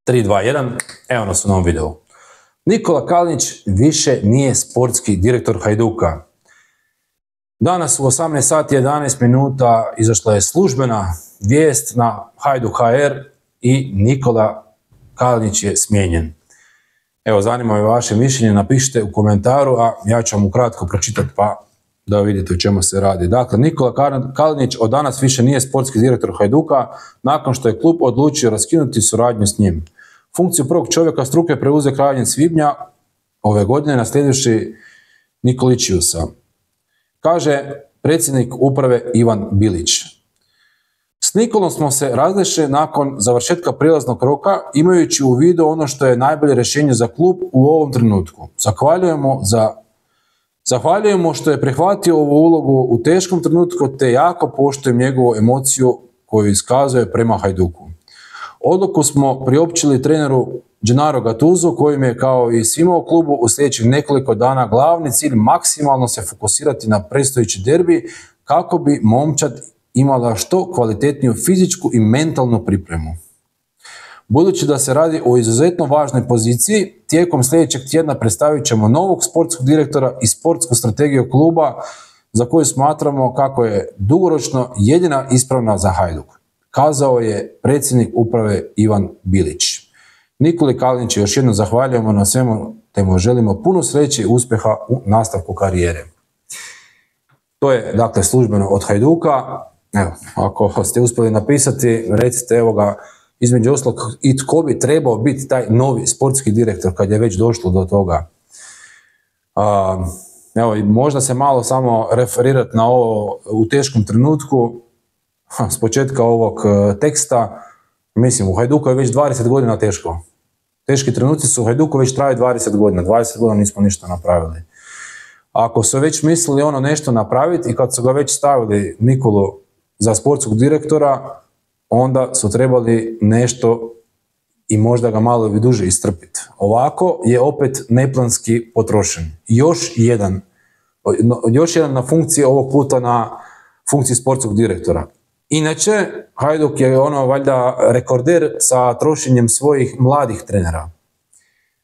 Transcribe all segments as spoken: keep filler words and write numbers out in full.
tri, dva, jedan, evo nas u novom videu. Nikola Kalinić više nije sportski direktor Hajduka. Danas u osamnaest sati i jedanaest minuta izašla je službena vijest na Hajduk punkt h r i Nikola Kalinić je smijenjen. Evo, zanima me vaše mišljenje, napišite u komentaru, a ja ću vam ukratko pročitati pa da vidite o čemu se radi. Dakle, Nikola Kalinić od danas više nije sportski direktor Hajduka nakon što je klub odlučio raskinuti suradnju s njim. Funkciju prvog čovjeka struke preuzeo krajem svibnja ove godine naslijedivši Nikoličiusa. Kaže predsjednik uprave Ivan Bilić. S Nikolom smo se različili nakon završetka prijelaznog roka imajući u vidu ono što je najbolje rješenje za klub u ovom trenutku. Zahvaljujemo za Zahvaljujemo što je prihvatio ovu ulogu u teškom trenutku te jako poštujem njegovu emociju koju iskazuje prema Hajduku. Odluku smo priopćili treneru Gennaro Gattuso kojim je kao i svima u klubu u sljedećih nekoliko dana glavni cilj maksimalno se fokusirati na predstojeći derbi kako bi momčad imala što kvalitetniju fizičku i mentalnu pripremu. Budući da se radi o izuzetno važnoj poziciji, tijekom sljedećeg tjedna predstavit ćemo novog sportskog direktora i sportsku strategiju kluba za koju smatramo kako je dugoročno jedina ispravna za Hajduk, kazao je predsjednik uprave Ivan Bilić. Nikoli Kaliniću još jednom zahvaljujemo na svemu te mu želimo puno sreće i uspjeha u nastavku karijere. To je dakle službeno od Hajduka. Evo, ako ste uspjeli napisati, recite evo ga, između ostalog i tko bi trebao biti taj novi sportski direktor kad je već došlo do toga. A, evo, možda se malo samo referirati na ovo u teškom trenutku. Ha, s početka ovog teksta, mislim, u Hajduku je već dvadeset godina teško. Teški trenuci su u Hajduku već traju dvadeset godina. dvadeset godina nismo ništa napravili. Ako su već mislili ono nešto napraviti i kad su ga već stavili Nikolu za sportskog direktora, onda su trebali nešto i možda ga malo i duže istrpiti. Ovako je opet neplanski potrošen. Još jedan, još jedan na funkciji, ovog puta na funkciji sportskog direktora. Inače, Hajduk je ono valjda rekorder sa trošenjem svojih mladih trenera.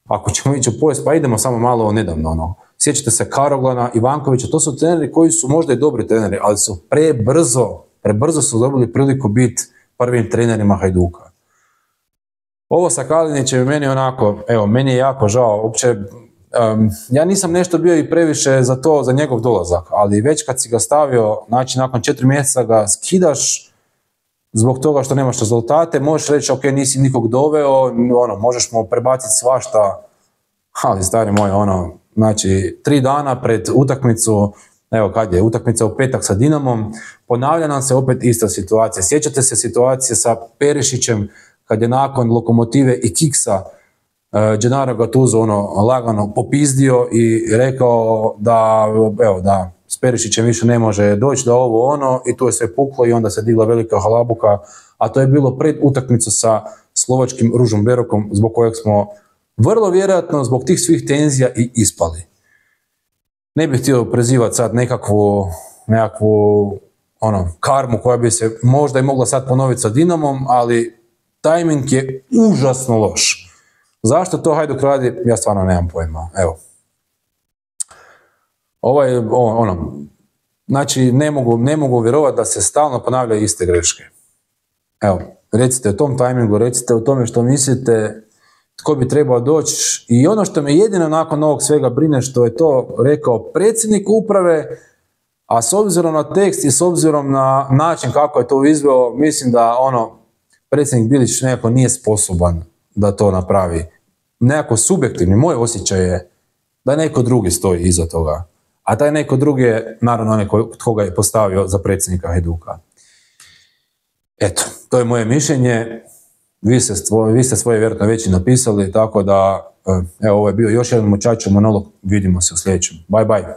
Ako ćemo ići u povijest, pa idemo samo malo nedavno. Ono. Sjećate se Karoglana, Ivankovića, to su treneri koji su možda i dobri treneri, ali su prebrzo, prebrzo su dobili priliku biti prvim trenerima Hajduka. Ovo sa Kalinićem je meni onako, evo, meni je jako žao, uopće, um, ja nisam nešto bio i previše za to, za njegov dolazak, ali već kad si ga stavio, znači nakon četiri mjeseca ga skidaš zbog toga što nemaš rezultate, možeš reći, ok, nisi nikog doveo, ono, možeš mu prebaciti svašta, ali stari moj, ono, znači, tri dana pred utakmicu, evo kad je utakmica u petak sa Dinamom, ponavlja nam se opet ista situacija. Sjećate se situacije sa Perišićem kad je nakon Lokomotive i Kiksa uh, Gennaro Gattuso ono lagano popizdio i rekao da, evo, da s Perišićem više ne može doći do ovo ono i tu je sve puklo i onda se digla velika halabuka, a to je bilo pred utakmicu sa slovačkim Ružom Berokom zbog kojeg smo vrlo vjerojatno zbog tih svih tenzija i ispali. Ne bih htio prezivati sad nekakvu, nekakvu ono, karmu koja bi se možda i mogla sad ponoviti sa Dinamom, ali tajming je užasno loš. Zašto to Hajduk radi, ja stvarno nemam pojma. Evo. Ovo je ono, znači ne mogu, ne mogu vjerovati da se stalno ponavljaju iste greške. Evo, recite o tom tajmingu, recite o tome što mislite, tko bi trebao doći i ono što me jedino nakon ovog svega brine što je to rekao predsjednik uprave, a s obzirom na tekst i s obzirom na način kako je to izveo, mislim da ono predsjednik Bilić nekako nije sposoban da to napravi. Nekako subjektivni, moj osjećaj je da neko drugi stoji iza toga, a taj neko drugi je naravno onaj tko ga je postavio za predsjednika Hajduka. Eto, to je moje mišljenje. Vi ste, vi ste svoje vjerojatno već i napisali, tako da, evo, ovo je bio još jedan mučačev monolog, vidimo se u sljedećem. Bye bye.